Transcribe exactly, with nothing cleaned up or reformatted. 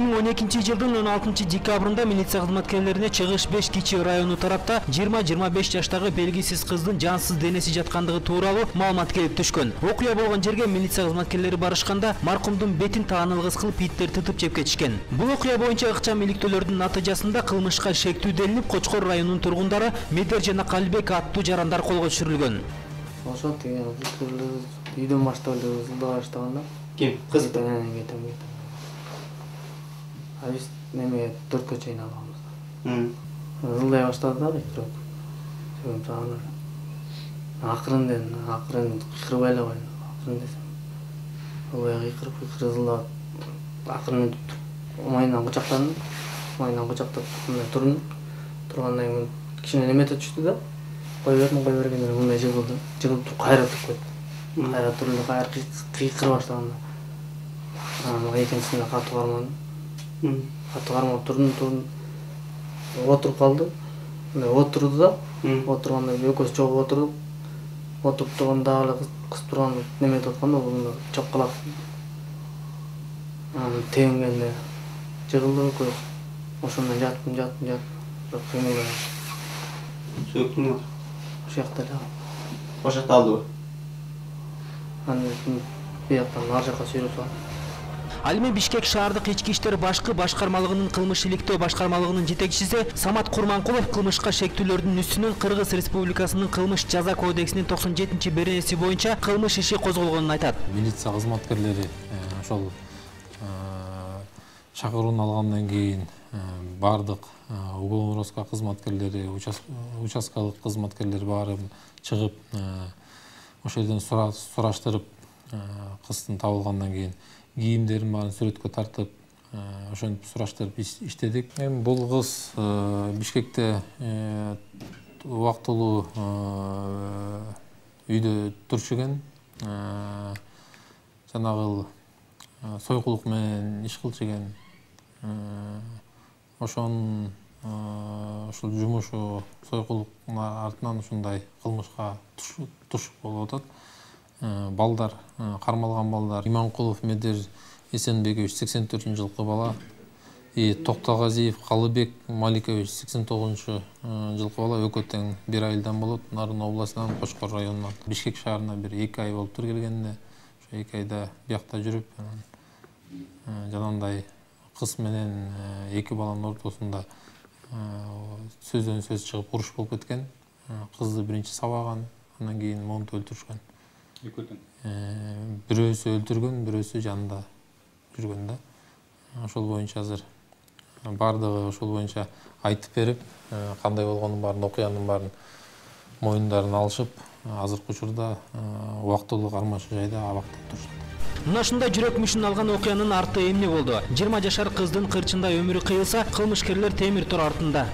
эки миң он экинчи жылдын он алтынчы декабрында милиция кызматкерлерине Чыгыш беш Кичи району тарапта жыйырма жыйырма беш жаштагы белгисиз кыздын жансыз денеси жаткандыгы тууралуу маалымат келип түшкөн. Окуя болгон жерге милиция кызматкерлери барышканда маркумдун бетин таанылгыс кылып иттер тытып жеп кетишкен. Бул окуя боюнча ыкчам иликтөөлөрдүн натыйжасында кылмышка шектүү делинип, Кочкор районунун тургундары Медер жана Калибек аттуу жарандар колго түшүрүлгөн. Ошо тиги үйдөн баштап эле ызылдаа баштаганда. Ким? Кыз менен кетем. А биз неме төрткө чейин алганбыз. Ызылдай баштады да битирип. Сөйүп жана. Акырынден, акырын кыйкырбай эле койду. Акырын десем. Ой, кыйкырып, кыйкырып ызылдап. Акырын майынан кучактандым. Майынан кучактап турдум. Тургандан кийин кичине немете түштү да. Кой бердим, кой бергенде мындай жыгылды. Жыгылып туруп кайра туруп кетти. Кайра турду, кайра кыйкырып баштаганда. Анан экинчисине катуу кармадым. Катуу кармап турдум, турдум. Отуруп калды. Отурду да, отурганда экөөбүз чогуу отурдук. Отуруп турганда дагы эле кыз турганда неметип атканда бул чоккалак. Анан теңгенде жыгылды экөөбүз. Ошондон жаттым, жаттым, жаттым. Бирок кыймылдай. Сөктүңбү? Ошол жакта эле. Ошол жакта алдыбы? Анан бияктан ар жакка сүйрөп салдым. Ал эми Бишкек шаардык ички иштер башкы башкармалыгынын кылмыш иликтөө башкармалыгынын жетекчиси Самат Курманкулов кылмышка шектүүлөрдүн үстүнөн Кыргыз Республикасынын кылмыш жаза кодексинин токсон жетинчи беренеси боюнча кылмыш иши козголгонун айтат. Милиция кызматкерлери ошол чакырууну алгандан кийин бардык уголовный розыска кызматкерлери, участкалык кызматкерлер баары чыгып ошол жерден сураштырып кыздын табылгандан кийин кийимдерин баарын сүрөткө тартып, ошентип сураштырып иштедик. Эми бул кыз Бишкекте убактылуу үйдө турчу экен. Жанагы сойкулук менен иш кылчу экен. Ошонун ушул жумушу сойкулуктун артынан ушундай кылмышка туш болуп атат. Балдар, кармалган балдар Иманкулов Медер Эсенбекович сексен төртүнчү жылкы бала, и Токтогазиев Калыбек Маликович сексен тогузунчу жылкы бала, экөө тең бир айылдан болот. Нарын областынан, Кочкор районунан Бишкек шаарына бир эки ай болуптур келгенине. Ошо эки айда биякта жүрүп, жанагындай кыз менен эки баланын ортосунда сөздөн сөз чыгып уруш болуп кеткен. Кызды биринчи сабаган, андан кийин монтуп өлтүрүшкөн. Экөөтөн. Бирөөсү өлтүргөн, бирөөсү жанында жүргөн да. Ошол боюнча азыр бардыгы ошол боюнча айтып берип, кандай болгонун баарын, окуянын баарын моюндарын алышып, азыркы учурда убактылуу кармашуу жайда абактап турушат. Мына ушундай жүрөк мүшүн алган окуянын арты эмне болду? жыйырма жашар кыздын кырчында өмүрү кыйылса, кылмышкерлер темир тор артында.